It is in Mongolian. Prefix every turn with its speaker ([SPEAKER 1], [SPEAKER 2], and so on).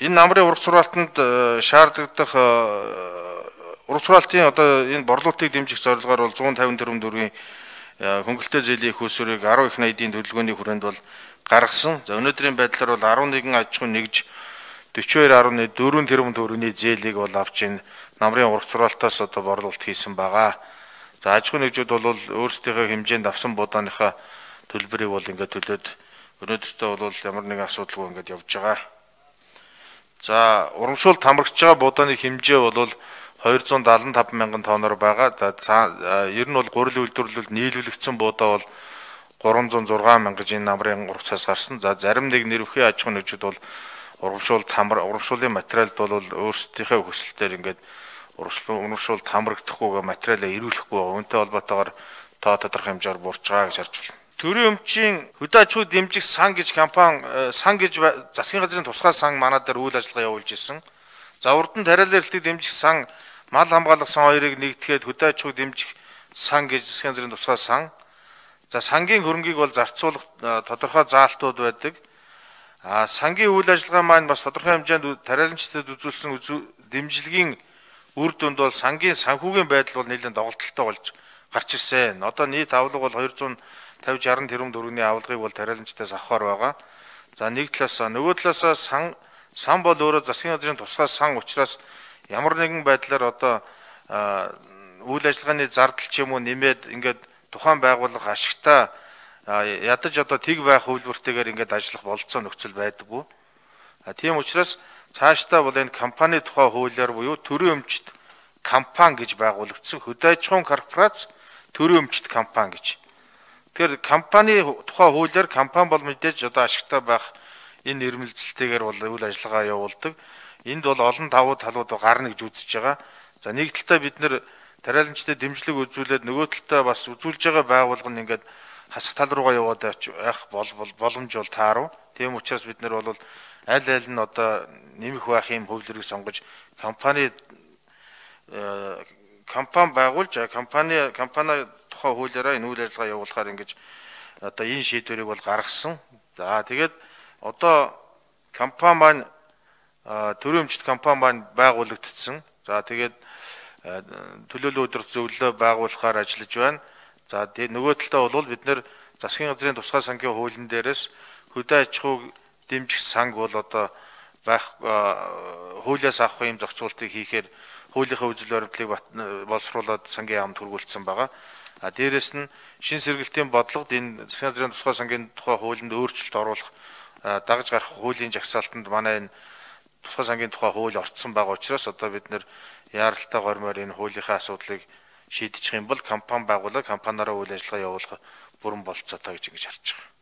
[SPEAKER 1] Энэ намрын ургац сургаалтанд шаардлагадах ургац сургаалтын одоо энэ борлуулалтыг дэмжих зорилгоор бол 150 тэрбум төгрөгийн хөнгөлөлтөө зээлийн их усурыг 10 их найдын төлөвлөгөөний хүрээнд бол гаргасан. За өнөөдрийн байдлаар бол 11 аж ахуйн нэгж 42.4 тэрбум төгрөгийн зээлийг бол авч энэ намрын ургац сургаалтаас одоо борлуулалт хийсэн байгаа. За аж ахуйн нэгжүүд бол өөрсдийнхөө хэмжээнд авсан будааныхаа төлбөрийг бол ингээд төлөөд өнөөдөртөө бол ямар нэгэн асуудалгүй ингээд явж байгаа. За урамшуулалт хамрагч байгаа будааны хэмжээ бол 275 мянган тонноор байгаа. За ер нь бол гурилын үйлдвэрлэлд нийлүүлэгдсэн будаа бол 306 мянга гэж энэ намрын ургацаас гарсан. За зарим нэг нэрвхийн аж ахуйн нэгжүүд бол урамшууллын материалд бол өөрсдийнхөө хүсэлтээр ингээд урамшуулалт хамрагдахгүйгээ материалаа ирүүлэхгүй байгаа. Үүнтэй холбоотойгоор тоо тодорхой хэмжээгээр буурч байгаа гэж харж байна. Төрийн өмчийн хөдөө аж ахуй дэмжих сан гэж компани сан гэж засгийн газрын тусгай сан манай дээр үйл ажиллагаа явуулж ирсэн. За урд нь тариалан эрхлэлийг дэмжих сан, мал хамгаалах сан хоёрыг нэгтгэхэд хөдөө аж ахуй дэмжих сан гэж засгийн газрын тусгай сан. За сангийн хөрөнгийг бол зарцуулах тодорхой заалтууд байдаг. Сангийн үйл ажиллагаа маань бас тодорхой хэмжээнд тариаланчдад үзүүлсэн дэмжлэгийн үр дүнд бол сангийн санхүүгийн байдал бол нэлээд доголдолтой болж гарч ирсэн. Одоо нийт авлага бол 250-60 тэрбум төгрөгийн авлагыг бол тариаланчдаас авахар байгаа. За нэг талаас нөгөө талаас сан бол өөрөө засгийн газрын тусгай сан учраас ямар нэгэн байдлаар одоо үйл ажиллагааны зардал ч юм уу нэмээд ингээд тухайн байгууллага ашигтай ядаж одоо тэг байх хөвлөртэйгээр ингээд ажиллах болцоо нөхцөл байдаггүй. Тийм учраас цаашдаа бол энэ компани тухай хуулиар буюу төрийн өмчт компани гэж байгуулагдсан хөдөө аж ахуйн корпорац төрийн өмчт компани гэж. Тэгэхээр компани тухай хуулиар компани бол мэдээж одоо ашигтай байх энэ нэрмэлцэлтэйгээр бол үйл ажиллагаа явуулдаг. Энд бол олон давуу талууд гарна гэж үзэж байгаа. За нэг талдаа бид нэр тариаланчдад дэмжлэг үзүүлээд нөгөө талдаа бас үзүүлж байгаа байгууллага нь ингээд хасах тал руугаа яваад байх боломж бол таарав. Тийм учраас бид нэр бол аль нь одоо нэмэх байх юм хөвлөрийг сонгож компани байгуулж компани тухай хуулиараа энэ үйл ажиллагаа явуулахаар ингэж одоо энэ шийдвэрийг бол гаргасан. За тэгээд одоо компани маань төрийн өмчт компани маань байгуулагдсан. За тэгээд төлөөлөл өдөр зөвлөлөө байгуулахаар ажиллаж байна. За тэгээд нөгөө талдаа бол бид нэр засгийн газрын тусгай сангийн хуулийн дээрээс хөдөө аж ахуй дэмжих санг бол одоо байх хуулиас авах юм зохицуултыг хийхээр хуулийнхаа үзэл баримтлалыг боловсруулад сангийн яамд хүргүүлсэн байгаа. Дээрээс нь шин сэргэлтийн бодлогод энэ засгийн газрын тусгай сангийн тухай хуулинд өөрчлөлт оруулах дагаж гарах хуулийн жагсаалтанд манай энэ тусгай сангийн тухай хууль орцсон байгаа учраас одоо бид нэр яаралтай гормоор энэ хуулийнхаа асуудлыг шийдчих юм бол компани байгуулаад компаниараа үйл ажиллагаа явуулах бүрэн болцоотой гэж ингэж харж байгаа.